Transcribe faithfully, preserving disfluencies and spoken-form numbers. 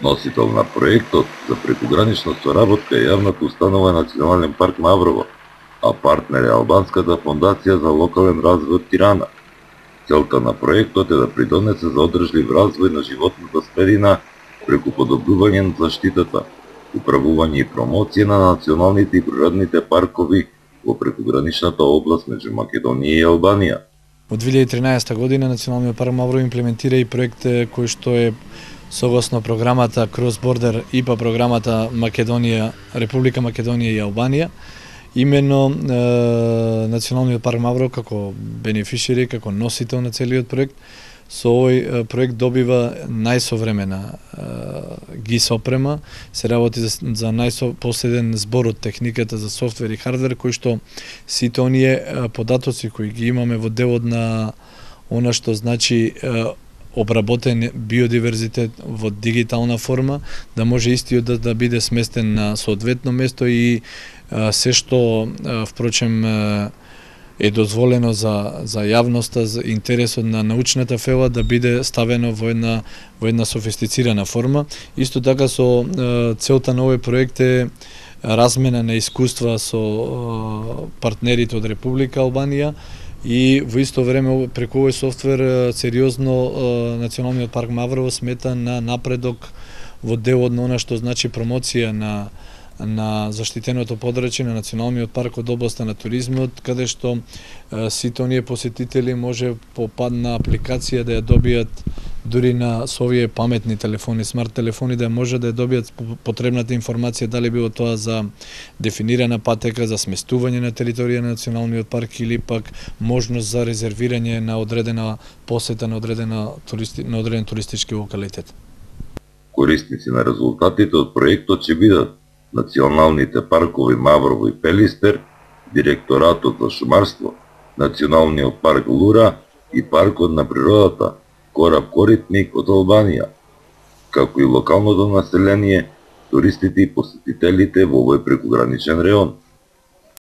Носител на проектот за прекугранична соработка е јавната установа Национален парк Маврово, а партнер е Албанската фондација за локален развој од Тирана. Целта на проектот е да придонесе за одржлив развој на животната средина преку подобрување на заштитата, управување и промоција на националните и природните паркови во прекуграничната област меѓу Македонија и Албанија. Во две илјади и тринаесетта година Националниот парк Маврово имплементира и проект кој што е согласно програмата Cross Border и па програмата Македонија, Република Македонија и Албанија. Именно е, Националниот парк Маврово како бенефишери, како носител на целиот проект, со овој проект добива најсовремена ГИС опрема, се работи за, за најпоследен збор од техниката за софтвер и хардвер, кои што сите оние податоци кои ги имаме во делот на она што значи обработен биодиверзитет во дигитална форма, да може истиот да, да биде сместен на соодветно место и а, се што а, впрочем а, е дозволено за за јавноста, за интересот на научната фела да биде ставено во една во една софистицирана форма. Исто така со а, целта на овој проект е размена на искуства со а, партнерите од Република Албанија. И во исто време преку овој софтвер сериозно Националниот парк Маврово смета на напредок во делот на она што значи промоција на на заштитеното подрачје на Националниот парк од областа на туризмот, каде што сите оние посетители може по падна апликација да ја добијат дури на со овие паметни телефони, смарт телефони, да може да ја добијат потребната информација, дали било тоа за дефинирана патека, за сместување на територија на Националниот парк или пак можност за резервирање на одредена посета на одредена туристи, на одреден туристички локалитет. Корисници на резултатите од проектот ќе бидат националните паркови Маврово и Пелистер, Директоратот за шумарство, Националниот парк Лура и Паркот на природата Кораб Коритник од Албанија, како и локалното население, туристите и посетителите во овој прекуграничен реон.